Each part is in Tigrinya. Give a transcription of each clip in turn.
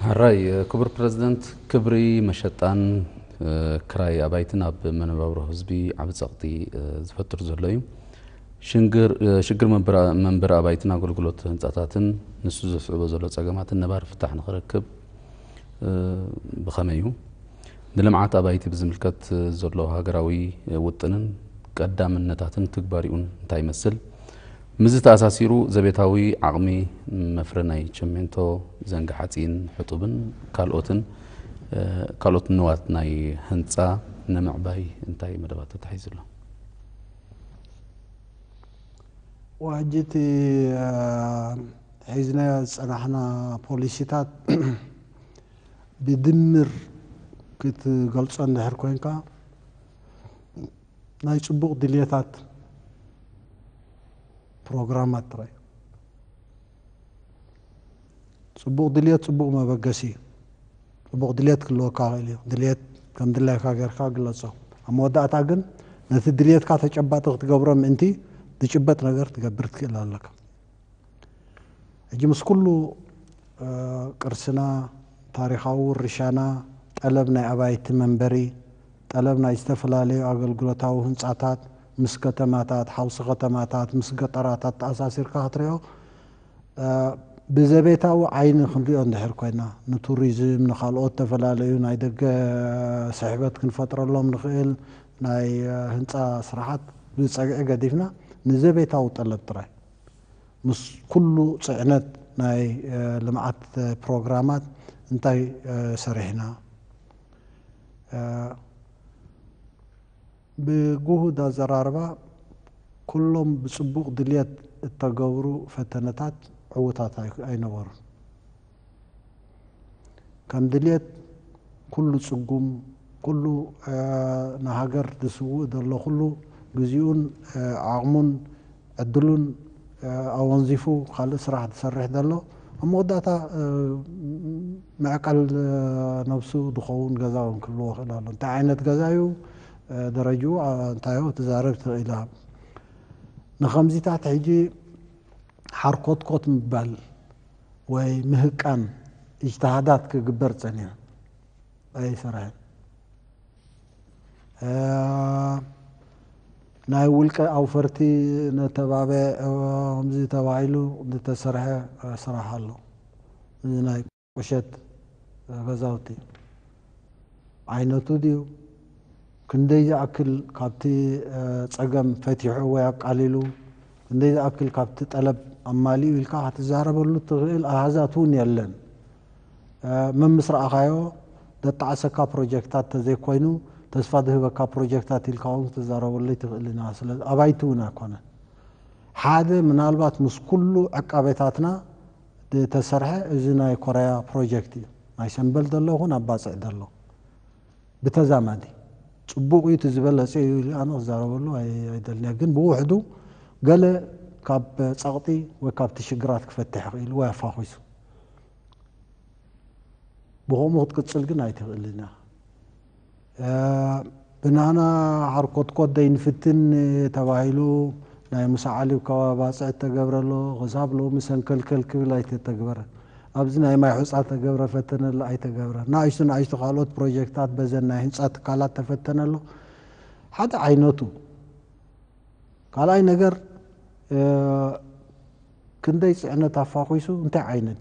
ሕራይ ክቡር ፕረዚደንት፣ ክብሪ መሸጣን ክራይ ኣባይትን ኣብ መነባብሮ ህዝቢ ዓቢ ጸቕጢ ዝፈጥር ዘሎ እዩ። ሽግር መንበሪ ኣባይትን ኣገልግሎት ህንጻታትን ንሱ ዘስዕቦ ዘሎ ጸገማትን ነባሪ ፍታሕ ንኽረክብ ብኸመይ እዩ? ንልምዓት ኣባይቲ ብዝምልከት ዘሎ ሃገራዊ ውጥንን ቀዳምነታትን ትግባሪኡን እንታይ ይመስል? ምስዚ ተኣሳሲሩ ዘቤታዊ ዓቕሚ መፍረ ናይ ቸሜንቶ፣ ዘንጊ ሓጺን ሕጡብን ካልኦትን ካልኦት ንዋት ናይ ህንጻ ንምዕባይ እንታይ መደባት ተታሒዙ ኣሎ? ሕጂ እቲ ሒዝናዮ ዝጸናሕና ፖሊሲታት ብድምር ክትገልጾ እንድሕር ኮይንካ ናይ ጽቡቕ ድልየታት ፕሮግራማት ጥራይ። ጽቡቕ ድልየት ጽቡቕ መበገሲ እዩ። ጽቡቕ ድልየት ክህልወካ ይኽእል እዩ። ድልየት ከም ድላይካ ጌርካ ግለጾ። ኣብ መወዳእታ ግን ነቲ ድልየትካ ተጨባጢ ክትገብሮ ምእንቲ ዝጭበጥ ነገር ክትገብር ትኽእል ኣለካ። ሕጂ ምስ ኩሉ ቅርስና፣ ታሪኻዊ ውርሻና፣ ጠለብ ናይ ኣባይቲ መንበሪ፣ ጠለብ ናይ ዝተፈላለዩ ኣገልግሎታዊ ህንጻታት፣ ምስ ከተማታት፣ ሓውሲ ከተማታት፣ ምስ ገጠራት ኣተኣሳሲርካ ክትሪኦ ብዘቤታዊ ዓይኒ ክንሪኦ እንድሕር ኮይና፣ ንቱሪዝም፣ ንኻልኦት ዝተፈላለዩ ናይ ደገ ስሕበት ክንፈጥረሎም ንኽእል ናይ ህንጻ ስራሓት ብጸግዒ ገዲፍና ንዘቤታዊ ጠለብ ጥራይ ምስ ኩሉ ጽዕነት ናይ ልምዓት ፕሮግራማት እንታይ ሰሪሕና? ብጉሁድ ኣዘራርባ ኩሎም ብጽቡቕ ድልየት እተገብሩ ፈተነታት ዕዉታት ኣይነበሩን። ከም ድልየት ኩሉ ጽጉም፣ ኩሉ ንሃገር ዝስውእ ዘሎ ኩሉ ግዜኡን ዓቕሙን ዕድሉን ኣወንዚፉ ካልእ ስራሕ ዝሰርሕ ዘሎ ኣብ መወዳእታ ምዕቃል ነብሱ ዝኸውን ገዛ እውን ክህልዎ ክእል ኣሎ። እንታይ ዓይነት ገዛ እዩ ደረጅኡ እንታይ ትዛረብ ትኽእል ኢኻ። ንኸምዚታት ሕጂ ሓርኮትኮት ምባል ወይ ምህቃን እጅትሃዳት ክግበር ጸኒሑ ኣይሰርሐን። ናይ ውልቀ ኣውፈርቲ ነተባበ ከምዚ ተባሂሉ ዝተሰርሐ ስራሕ ኣሎ። እዚ ናይ ቁሸት ገዛውቲ ዓይነቱ ድዩ? ክንደይ ዝኣክል ካብቲ ጸገም ፈቲሑ ወይ ኣቃሊሉ፣ ክንደይ ዝኣክል ካብቲ ጠለብ ኣማሊኡ ኢልካ ክትዛረበሉ እትኽእል ኣሃዛት እውን የለን። መምስ ረኣኻዮ ዘጣዕሰካ ፕሮጀክታት ተዘይኮይኑ ተስፋ ዝህበካ ፕሮጀክታት ኢልካ እውን ክትዛረበሉ ኣይትኽእልን ኢኻ። ስለዚ ኣባይቲ እውን ኣይኮነን። ሓደ ምናልባት ምስ ኩሉ ዕቃቤታትና ዝተሰርሐ እዚ ናይ ኮረያ ፕሮጀክት እዩ። ናይ ሰምበል ዘሎ ይኹን ኣብ ባጽዕ ዘሎ ብተዛማዲ ጽቡቕ እዩ፣ እቲ ዝበለጸ እዩ ኢሉ ኣነ ክዛረበሉ ኣይደልን እየ። ግን ብውሕዱ ገለ ካብ ጸቕጢ ወይ ካብቲ ሽግራት ክፈትሕ ይኽእል ወይ ኣፋኺሱ ብኸምኡ ክትቅጽል ግን ኣይትኽእልን ኢኻ። ብናና ሓርኮትኮት ደይንፍትን ተባሂሉ ናይ ሙሳ ዓሊ ከባቢ ባጽዕ ተገብረ ኣሎ፣ ክሳብ ሎሚ ሰንከልከል ክብል ኣይተተግበረ። ኣብዚ ናይ ማይ ሑጻ ተገብረ ፈተነ ኣሎ ኣይተገብረ። ንኣሽቱ ንኣሽቱ ካልኦት ፕሮጀክታት በዘን ናይ ህንጻ ትካላት ተፈተነ ኣሎ። ሓደ ዓይነቱ ካልኣይ ነገር ክንደይ ጽዕነት ኣፋኺሱ እንታይ ዓይነት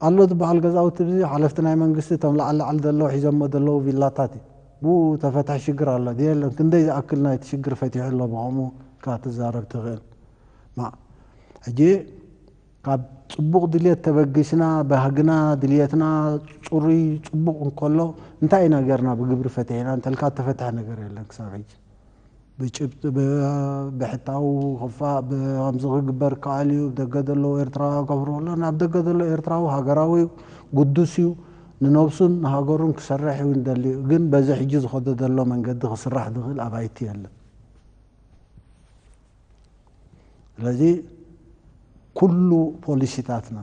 ኣሎ ዝበሃል ገዛውቲ እዚ ሓለፍቲ ናይ መንግስቲ እቶም ላዕሊ ላዕሊ ዘለዉ ሒዞሞ ዘለዉ ቪላታት እዩ። ብኡ ተፈትሐ ሽግር ኣሎ ድዩ የለን? ክንደይ ዝኣክል ናይቲ ሽግር ፈቲሑ ኣሎ ብኸምኡ ኢኻ ትዛረብ ትኽእል። ማ ሕጂ ካብ ጽቡቕ ድልየት ተበጊስና ባህግና ድልየትና ጽሩይ ጽቡቕ እንከሎ እንታይ ኢና ጌርና ብግብሪ ፈቲሕና እንተልካ እተፈትሐ ነገር የለን ክሳብ ሕጂ። ብጭብጢ ብሕታዊ ክፋእ ከምዚ ክግበር ይከኣል እዩ። ደገ ዘለዉ ኤርትራውያን ከፍርሁ ኣሎ ናብ ደገ ዘሎ ኤርትራዊ ሃገራዊ ግዱስ እዩ። ንነብሱን ንሃገሩን ክሰርሕ እዩ እንደልዩ። ግን በዚ ሕጂ ዝኸዶ ዘሎ መንገዲ ክስራሕ ዝኽእል ኣባይቲ የለን። ስለዚ ኩሉ ፖሊሲታትና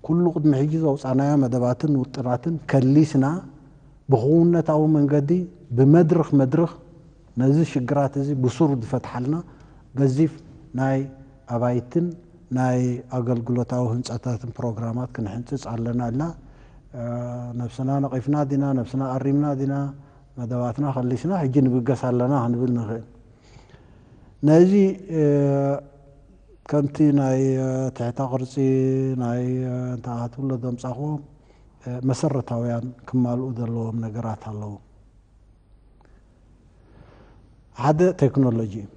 ኩሉ ቅድሚ ሕጂ ዘውፃናዮ መደባትን ውጥናትን ከሊስና ብክውነታዊ መንገዲ ብመድርኽ መድርኽ ነዚ ሽግራት እዚ ብሱሩ ዝፈትሓልና ገዚፍ ናይ ኣባይትን ናይ ኣገልግሎታዊ ህንፃታትን ፕሮግራማት ክንሕንፅፅ ኣለና ኢልና ነብስና ነቒፍና ዲና፣ ነብስና ኣሪምና ዲና፣ መደባትና ከሊስና ሕጂ ንብገስ ኣለና ክንብል ንኽእል። ነዚ ከምቲ ናይ ትሕተ ቅርጺ ናይ እንታይ ክትብሎ ዘምጻኹዎ መሰረታውያን ክማልኡ ዘለዎም ነገራት ኣለዉ። ሓደ ቴክኖሎጂ እዩ።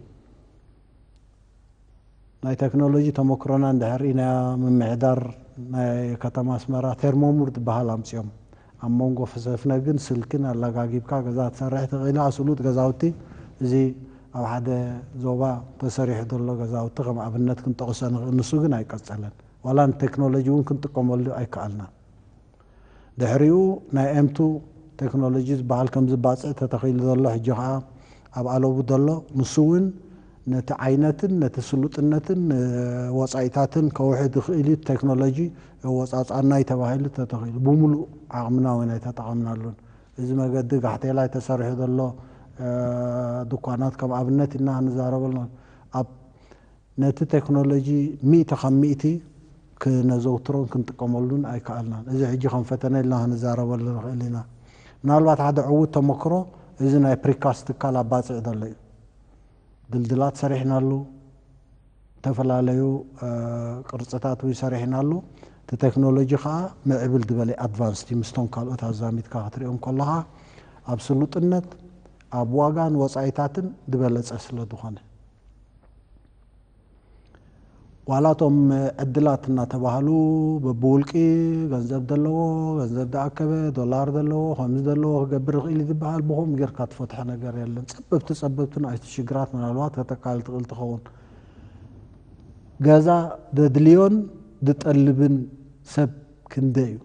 ናይ ቴክኖሎጂ ተመክሮና እንድሕር ኢና ምምሕዳር ናይ ከተማ ኣስመራ ቴርሞሙር ዝበሃል ኣምፅኦም። ኣብ መንጎ ፈሰፍነ ግን ስልክን ኣላጋጊብካ ገዛ ትሰርሕ ትኽእል። ኣስሉጥ ገዛውቲ እዚ ኣብ ሓደ ዞባ ተሰሪሑ ዘሎ ገዛውቲ ከም ኣብነት ክንጠቕሶ ንኽእል። ንሱ ግን ኣይቀጸለን። ዋላ ንቴክኖሎጂ እውን ክንጥቀመሉ ኣይከኣልናን። ድሕሪኡ ናይ ኤምቱ ቴክኖሎጂ ዝበሃል ከም ዝባፅዕ ተተኺሉ ዘሎ ሕጂ ከዓ ኣብ ኣለቡ ዘሎ ንሱ እውን ነቲ ዓይነትን ነቲ ስሉጥነትን ወፃኢታትን ከውሕድ ይኽእል እዩ። ቴክኖሎጂ ወፃፃናይ ተባሂሉ ተተኺሉ ብምሉእ ዓቕምና እውን ኣይተጠቐምናሉን። እዚ መገዲ ጋሕቴላይ ተሰሪሑ ዘሎ ድኳናት ከም ኣብነት ኢና ንዛረበሉ። ኣብ ነቲ ቴክኖሎጂ ሚእቲ ካብ ሚእቲ ክነዘውትሮን ክንጥቀመሉን ኣይከኣልናን። እዚ ሕጂ ከም ፈተነ ኢልና ክንዛረበሉ ንኽእል ኢና። ምናልባት ሓደ ዕዉት ተመክሮ እዚ ናይ ፕሪካስት ትካል ኣብ ባፅዕ ዘሎ እዩ። ድልድላት ሰሪሕናሉ፣ ዝተፈላለዩ ቅርፅታት እውን ሰሪሕናሉ። እቲ ቴክኖሎጂ ከዓ ምዕብል ዝበለ ኣድቫንስድ ምስቶም ካልኦት ኣዛሚድካ ክትሪኦም ከለኻ ኣብ ስሉጥነት ኣብ ዋጋን ወፃኢታትን ዝበለፀ ስለ ዝኾነ ዋላቶም ዕድላት እናተባህሉ በብውልቂ ገንዘብ ዘለዎ ገንዘብ ዝኣከበ ዶላር ዘለዎ ከምዚ ዘለዎ ክገብር ይኽእል ዝበሃል ብኸምኡ ጌርካ ትፈትሖ ነገር የለን። ጸበብቲ ጸበብቲ ንኣሽቱ ሽግራት ምናልባት ከተቃልል ትኽእል ትኸውን። ገዛ ደድልዮን ዝጠልብን ሰብ ክንደይ እዩ?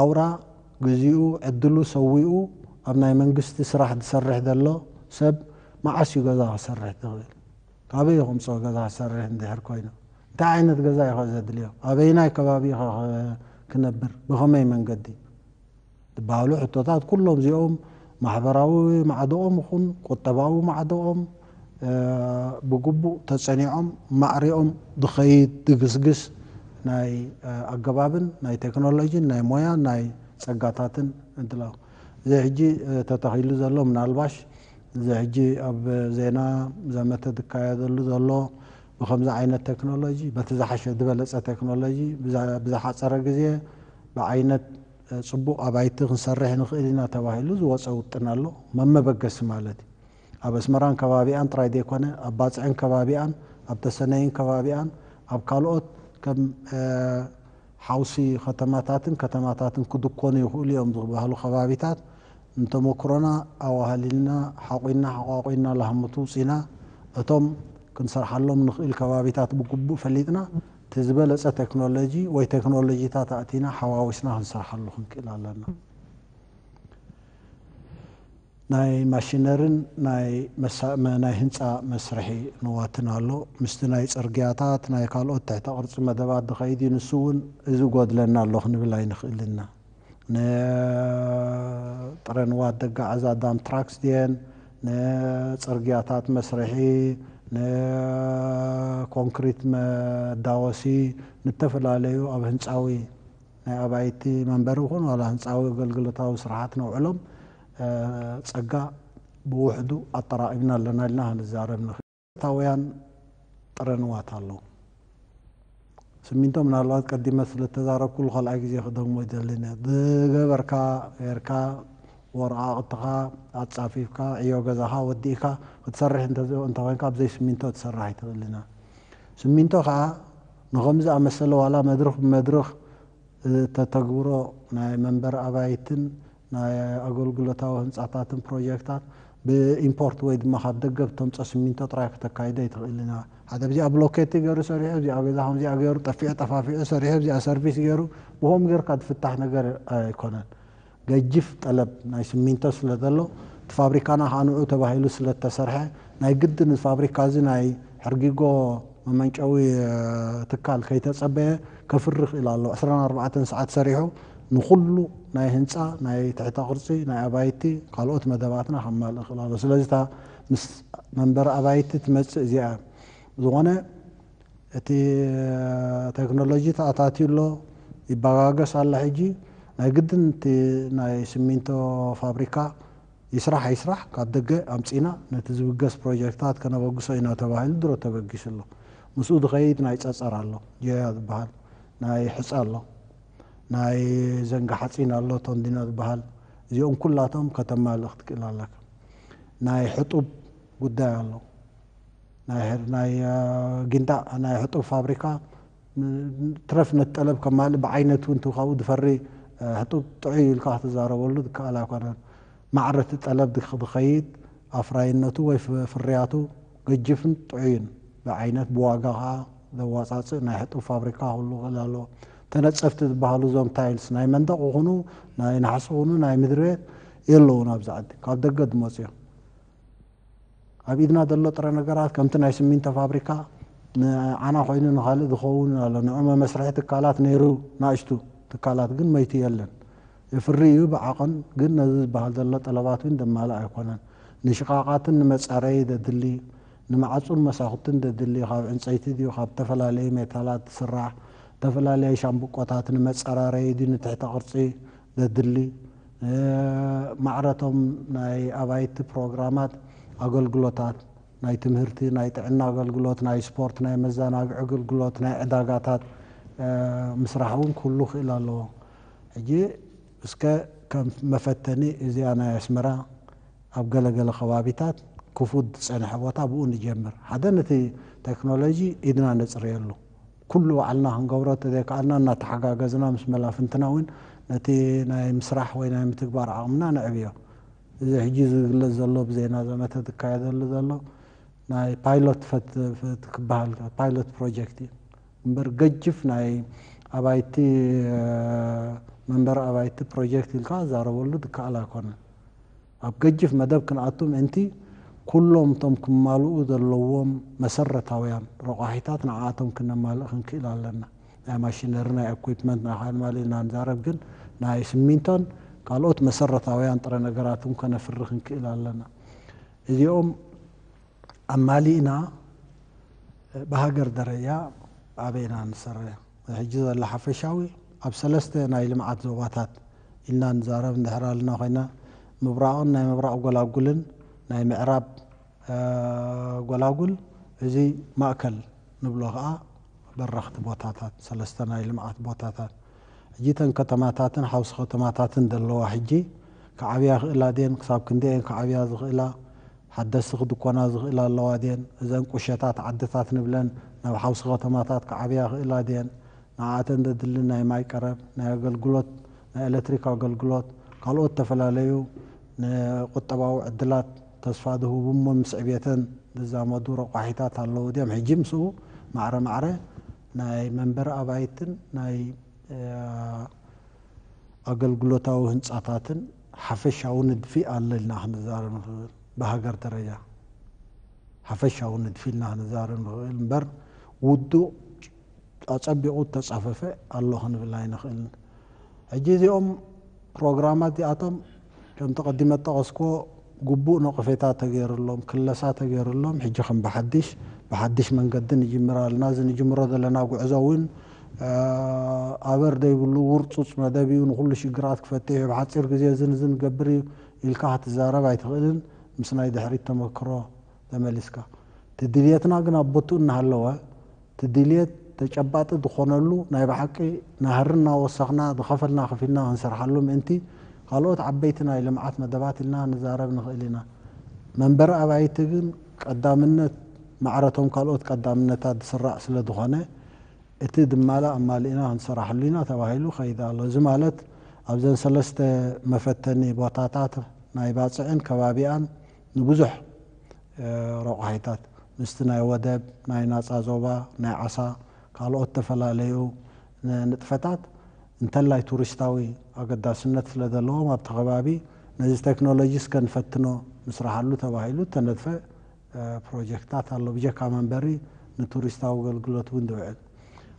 ኣውራ ግዚኡ ዕድሉ ሰዊኡ ኣብ ናይ መንግስቲ ስራሕ ዝሰርሕ ዘሎ ሰብ መዓስ እዩ ገዛ ክሰርሕ ዝኽእል? ካበይ ከምፅኦ ገዛ ክሰርሕ እንድሕር ኮይኑ እንታይ ዓይነት ገዛ እዩ ዘድልዮ? ኣበይናይ ከባቢ ክነብር? ብኸመይ መንገዲ? ዝበሃሉ ሕቶታት ኩሎም እዚኦም ማሕበራዊ ማዕዶኦም ይኹን ቁጠባዊ ማዕዶኦም ብግቡእ ተጸኒዖም ማዕሪኦም ዝኸይድ ድግስግስ ናይ ኣገባብን ናይ ቴክኖሎጂን ናይ ሞያን ናይ ጸጋታትን እንትላ እዚ ሕጂ ተተኺሉ ዘሎ ምናልባሽ እዚ ሕጂ ኣብ ዜና ዘመተ ዝካየደሉ ዘሎ ብከምዚ ዓይነት ቴክኖሎጂ በቲ ዝሓሸ ዝበለጸ ቴክኖሎጂ ብዝሓጸረ ግዜ ብዓይነት ጽቡቕ ኣባይቲ ክንሰርሕ ንኽእል ኢና ተባሂሉ ዝወፀ ውጥን ኣሎ። መመበገሲ ማለት እዩ። ኣብ ኣስመራን ከባቢኣን ጥራይ ዘይኮነ ኣብ ባፅዕን ከባቢኣን ኣብ ተሰነይን ከባቢኣን ኣብ ካልኦት ከም ሓውሲ ከተማታትን ከተማታትን ክድኮኑ ይኽእሉ እዮም ዝበሃሉ ከባቢታት ንተመክሮና ኣዋህሊልና ሓቑና ሓቋቑና ላህምቱ ውፂና እቶም ክንሰርሓሎም ንኽእል ከባቢታት ብግቡእ ፈሊጥና እቲ ዝበለፀ ቴክኖሎጂ ወይ ቴክኖሎጂታት ኣእቲና ሓዋዊስና ክንሰርሓሉ ክንክእል ኣለና። ናይ ማሽነርን ናይ ህንፃ መስርሒ ንዋትን ኣሎ። ምስቲ ናይ ፅርግያታት ናይ ካልኦት ትሕተ ቅርፂ መደባት ዝኸይድ እዩ። ንሱ እውን እዚ ጎድለና ኣሎ ክንብል ኣይንኽእልና። ንጥረ ንዋት ደጋዓዛ ዳም ትራክስ ድየን ንፅርግያታት መስርሒ ንኮንክሪት መዳወሲ ንተፈላለዩ ኣብ ህንፃዊ ናይ ኣባይቲ መንበሪ ይኹን ዋላ ህንፃዊ ኣገልግሎታዊ ስራሓት ነውዕሎም ፀጋ ብውሕዱ ኣጠራቒምና ኣለና ኢልና ክንዛረብ ንኽእል። ታውያን ጥረ ንዋት ኣለዉ። ስሚንቶ ምናልባት ቀዲመ ስለተዛረብኩሉ ካልኣይ ግዜ ክደግሞ ይደልን ዝገበርካ ጌርካ ወረቓቕትኻ ኣጻፊፍካ ዕዮ ገዛኻ ወዲእካ ክትሰርሕ እንተኮንካ ብዘይ ስሚንቶ ትሰርሕ ኣይትኽእልና። ስሚንቶ ከዓ ንኸም ዝኣመሰለ ዋላ መድርኽ ብመድርኽ እተተግብሮ ናይ መንበሪ ኣባይትን ናይ ኣገልግሎታዊ ህንፃታትን ፕሮጀክታት ብኢምፖርት ወይ ድማ ካብ ደገ ብተምፀ ስሚንቶ ጥራይ ክተካይዶ ኣይትኽእል ኢና። ሓደ ብዚኣ ብሎኬቲ ገይሩ ሰሪሑ፣ እዚኣ ገዛ ከምዚኣ ገይሩ ጠፊዑ ጠፋፊዑ ሰሪሑ፣ እዚኣ ሰርቪስ ገይሩ ብኸም ጌርካ ዝፍታሕ ነገር ኣይኮነን። ገጅፍ ጠለብ ናይ ስሚንቶ ስለ ዘሎ እቲ ፋብሪካና ከዓ ንዑ ተባሂሉ ስለ እተሰርሐ ናይ ግድን እዚ ፋብሪካ እዚ ናይ ሕርጊጎ መመንጨዊ ትካል ከይተጸበየ ከፍሪ ይኽእል ኣሎ። ዕስራን ኣርባዕተን ሰዓት ሰሪሑ ንኹሉ ናይ ህንፃ ናይ ትሕተ ቅርፂ ናይ ኣባይቲ ካልኦት መደባትና ከማልእ ይኽእል ኣሎ። ስለዚ እታ ምስ መንበሪ ኣባይቲ ትመፅእ እዚኣ ዝኾነ እቲ ቴክኖሎጂ ተኣታትዩ ኣሎ። ይበጋገስ ኣሎ። ሕጂ ናይ ግድን እቲ ናይ ሲሚንቶ ፋብሪካ ይስራሕ ኣይስራሕ ካብ ደገ ኣምፂና ነቲ ዝብገስ ፕሮጀክታት ከነበግሶ ኢና ተባሂሉ ድሮ ተበጊሱ ኣሎ። ምስኡ ዝኸይድ ናይ ፀፀር ኣሎ፣ ጀያ ዝበሃል ናይ ሕፃ ኣሎ፣ ናይ ዘንጋ ሓፂን ኣሎ፣ ቶንዲኖ ዝበሃል፣ እዚኦም ኩላቶም ከተማልእ ክትክእል ኣለካ። ናይ ሕጡብ ጉዳይ ኣሎ። ናይ ናይ ጊንዳዕ ናይ ሕጡብ ፋብሪካ ትረፍ ነቲ ጠለብ ከማልእ ብዓይነቱ እንቱ ካብኡ ዝፈሪ ሕጡብ ጥዑይ ኢልካ ክትዛረበሉ ዝከኣል ኣይኮነን። ማዕረቲ ጠለብ ዝኸይድ ኣፍራይነቱ ወይ ፍርያቱ ገጅፍን ጥዑይን ብዓይነት ብዋጋ ከዓ ዘዋፃፅእ ናይ ሕጡብ ፋብሪካ ክህሉ ክእል ኣለዎ። ተነፀፍቲ ዝበሃሉ እዞም ታይልስ ናይ መንደቕ ይኹኑ ናይ ናሕሲ ይኹኑ ናይ ምድሪ ቤት የለውን ኣብዚ ዓዲ ካብ ደገ ዝመፁ እዮም። ኣብ ኢድና ዘሎ ጥረ ነገራት ከምቲ ናይ ስሚንቶ ፋብሪካ ንዓና ኮይኑ ንኻልእ ዝኸውን ኣሎ። ንዑ መመስርሒ ትካላት ነይሩ ናእሽቱ ትካላት ግን መይቱ የለን። የፍሪ እዩ ብዓቐን ግን ነዚ ዝበሃል ዘሎ ጠለባት እውን ዘማልእ ኣይኮነን። ንሽቓቓትን ንመጻረዪ ዘድሊ ንማዕጹን መሳኹትን ዘድሊ ካብ ዕንፀይቲ ድዩ ካብ ዝተፈላለዩ ሜታላት ዝስራሕ ዝተፈላለዩ ሻምብቆታት ንመጸራረዪ ድዩ ንትሕተ ቅርፂ ዘድሊ ማዕረቶም ናይ ኣባይቲ ፕሮግራማት ኣገልግሎታት ናይ ትምህርቲ ናይ ጥዕና ኣገልግሎት ናይ ስፖርት ናይ መዘናግዒ ኣገልግሎት ናይ ዕዳጋታት ምስራሕ እውን ክህሉ ክእል ኣለዎ። ሕጂ እስከ ከም መፈተኒ እዚኣ ናይ ኣስመራ ኣብ ገለገለ ከባቢታት ክፉት ዝፀንሐ ቦታ ብኡ ንጀምር። ሓደ ነቲ ቴክኖሎጂ ኢድና ነፅርየሉ ኩሉ ባዕልና ክንገብሮ ተዘይከኣልና እናተሓጋገዝና ምስ መላፍንትና እውን ነቲ ናይ ምስራሕ ወይ ናይ ምትግባር ዓቕምና ነዕብዮ። እዚ ሕጂ ዝግለጽ ዘሎ ብዜና ዘመተ ዝካየደሉ ዘሎ ናይ ፓይሎት ክበሃል ፓይሎት ፕሮጀክት እዩ እምበር ገጅፍ ናይ ኣባይቲ መንበሪ ኣባይቲ ፕሮጀክት ኢልካ ዛረበሉ ዝከኣል ኣይኮነን። ኣብ ገጅፍ መደብ ክንኣቱ ምእንቲ ኩሎም እቶም ክማልኡ ዘለዎም መሰረታውያን ረቋሒታት ንዓኣቶም ክነማልእ ክንክእል ኣለና። ናይ ማሽነሪ ናይ ኢኩፕመንት ናይ ካልእ ማል ኢልና ንዛረብ ግን ናይ ስሚንቶን ካልኦት መሰረታውያን ጥረ ነገራትን ከነፍሪ ክንክእል ኣለና። እዚኦም ኣማሊእና ብሃገር ደረጃ ኣበይና ንሰርሕ ሕጂ ዘሎ ሓፈሻዊ ኣብ ሰለስተ ናይ ልምዓት ዞባታት ኢልና ንዛረብ እንድሕር ኣለና ኮይና ምብራቕን ናይ ምብራቕ ጎላጉልን ናይ ምዕራብ ጎላጉል እዚ ማእከል ንብሎ ከዓ በረኽቲ ቦታታት ሰለስተ ናይ ልምዓት ቦታታት ሕጂ ተን ከተማታትን ሓውሲ ከተማታትን ዘለዋ ሕጂ ክዓብያ ክእላ ድየን ክሳብ ክንደየን ክዓብያ ዝኽእላ ሓደስቲ ክድኮና ዝኽእላ ኣለዋ ድየን እዘን ቁሸታት ዓድታት ንብለን ናብ ሓውሲ ከተማታት ክዓብያ ክእላ ድየን ንዓተን ዘድሊ ናይ ማይ ቀረብ ናይ ኣገልግሎት ናይ ኤሌክትሪክ ኣገልግሎት ካልኦት ዝተፈላለዩ ንቁጠባዊ ዕድላት ተስፋ ዝህቡ እሞ ምስ ዕብየተን ዝዛመዱ ረቋሒታት ኣለዉ ድዮም ሕጂ ምስኡ ማዕረ ማዕረ ናይ መንበሪ ኣባይትን ናይ ኣገልግሎታዊ ህንፃታትን ሓፈሻዊ ንድፊ ኣሎ ኢልና ክንዛረብ ንኽእል ብሃገር ደረጃ ሓፈሻዊ ንድፊ ኢልና ክንዛረብ ንኽእል እምበር ውዱእ ኣፀቢቑ ተፃፈፈ ኣሎ ክንብል ኣይንኽእልን። ሕጂ እዚኦም ፕሮግራማት እዚኣቶም ከምቲ ቀዲመ ጠቐስኮ ግቡእ ነቐፌታ ተገይሩሎም ክለሳ ተገይሩሎም ሕጂ ከም ብሓድሽ ብሓድሽ መንገዲ ንጅምር ኣለና። እዚ ንጅምሮ ዘለና ጉዕዞ እውን ኣበር ዘይብሉ ውርፁፅ መደብ እዩ። ንኩሉ ሽግራት ክፈትሕ እዩ። ብሓፂር ግዜ እዝን እዝን ገብር እዩ ኢልካ ክትዛረብ ኣይትኽእልን። ምስ ናይ ድሕሪት ተመክሮ ተመሊስካ እቲ ድልየትና ግን ኣብ ቦትኡ እናሃለወ እቲ ድልየት ተጨባጢ ዝኾነሉ ናይ ብሓቂ ናህሪ እናወሰኽና ዝኸፈልና ከፊልና ክንሰርሓሉ ምእንቲ ካልኦት ዓበይቲ ናይ ልምዓት መደባት ኢልና ንዛረብ ንኽእል ኢና። መንበሪ ኣባይቲ ግን ቀዳምነት ማዕረቶም ካልኦት ቀዳምነታት ዝስራዕ ስለ ዝኾነ እቲ ዝማላእ ኣማሊእና ክንሰራሕሉ ኢና ተባሂሉ ከይድ ኣሎ። እዚ ማለት ኣብዘን ሰለስተ መፈተኒ ቦታታት ናይ ባፅዕን ከባቢኣን ንብዙሕ ረቋሒታት ምስቲ ናይ ወደብ ናይ ናፃ ዞባ ናይ ዓሳ ካልኦት ዝተፈላለዩ ንጥፈታት እንተላይ ቱሪስታዊ ኣገዳስነት ስለ ዘለዎም ኣብቲ ከባቢ ነዚ ቴክኖሎጂ እስከ ንፈትኖ ምስራሓሉ ተባሂሉ እተነድፈ ፕሮጀክትታት ኣሎ። ብጀካ መንበሪ ንቱሪስታዊ ኣገልግሎት እውን ዝውዕል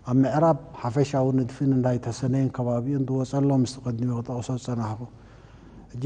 ኣብ ምዕራብ ሓፈሻዊ ንድፊን እንዳይ ተሰነይን ከባቢኡን ዝወፀ ኣሎ ምስቲ ቅድሚኡ ክጠቕሶ ዝፀናሕኩ ሕጂ